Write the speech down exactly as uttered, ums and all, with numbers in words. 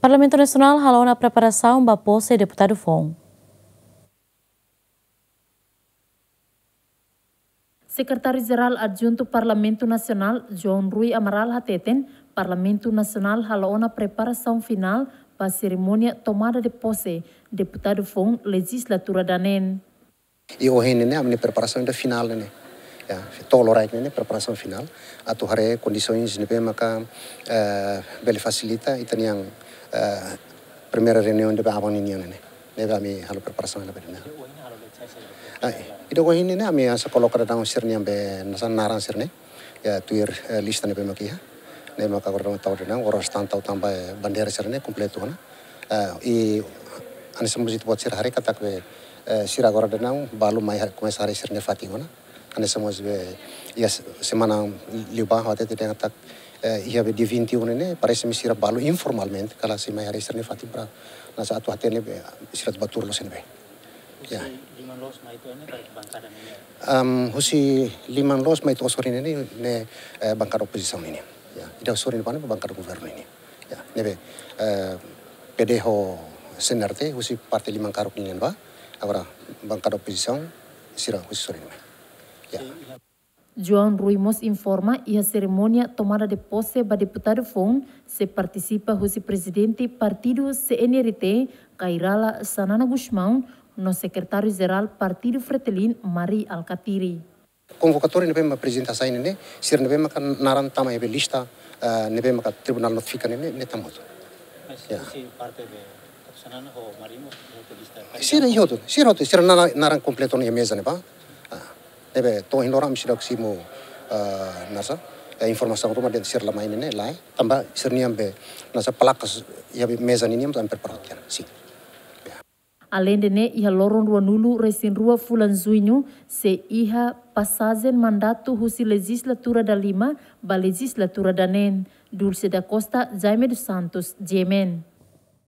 Parlamentu Nasionál halo ona preparasaun ba pose deputadu foun. Sekretáriu Jerál Adjuntu Parlamentu Nasionál, João Rui Amaral hateten, Parlamentu Nasionál halo ona preparasaun finál ba serimónia tomada de pose deputadu foun lejizlatura daneen. I ohin ne'e ami-nia preparasaun ida finál ne'e. Ya, to'o loraik ne'e preparasaun finál. Atu haree kondisoens ne'ebé maka, eh, bele fasilita ita-nia, eh, primeira reuniaun ida ba aban ninian ne'e. Ne'ebé ami halo preparasaun ne'ebé ne'e. Ah, ida ohin ne'e ami hanesan koloka daudaun sira-nia be hanesan naran sira-ne'e. Ya, tuir, eh, lista ne'ebé maka iha. Ne'e maka agora daudaun tau daudaun, agora stan tau tanba, eh, bandeira sira-ne'e kompletu ona. Eh, i hanesan mós ita-boot sira haree katak be, eh, sira agora daudaun balu mai ha-, komesa haree sira-nia fatin ona. Hanesan mós be iha se-, semana liubá ha'u hatete dehan katak, eh, iha be dia vinte e um ne'e, parese-me sira balu informalmente, karik sei mai haree sira-nia fatin para hanesan atu hatene be sira atu bá tuur loos iha ne'ebé. Ya. Husi liman loos mai to'o sorin ne'e? Am, husi liman loos mai to'o sorin ne'e, ne'e, eh, bankada opozisaun ninian. Ya, ida sorin ne'ebá ne'e bankada governu ninian. Ya, ne'ebé, eh, P D ho C N R T, husi parte liman karuk ninian bá, agora bankada opozisaun, sira husi sorin mai. Ya. João Rui mós informa iha serimónia tomada de pose ba deputadu foun sei partisipa husi prezidente partidu C N R T, Kay Rala Xanana Gusmão, no sekretáriu jerál partidu Fretilin, Mari Alkatiri. Konvokatória ne'ebé mak prezidente hasai ne'e, sira ne'ebé maka naran tama iha be lista, eh, ne'ebé maka tribunál notifika ne'e, ne'e tama hotu. Mas ya. Husi parte be Xanana ho Mari mós iha hotu lista. Sira iha hotu, sira hotu, sira naran, naran kompletu ona iha meza ne'ebá. Ah, ne'ebé to'o ohin loron ami seidauk simu, ah, hanesan, eh, informasaun ruma dehan sira la mai ne'e, lae. Tanba sira-nian be hanesan plakas iha be meza ninian ami prepara tiha ona. Sin. Ya. Aleinde ne'e, iha loron ruanulu-resin-rua fulan Juñu, sei iha pasajen mandatu husi lejizlatura dalima ba lejizlatura daneen. Dulce da Costa, Jaime dos Santos, G M N.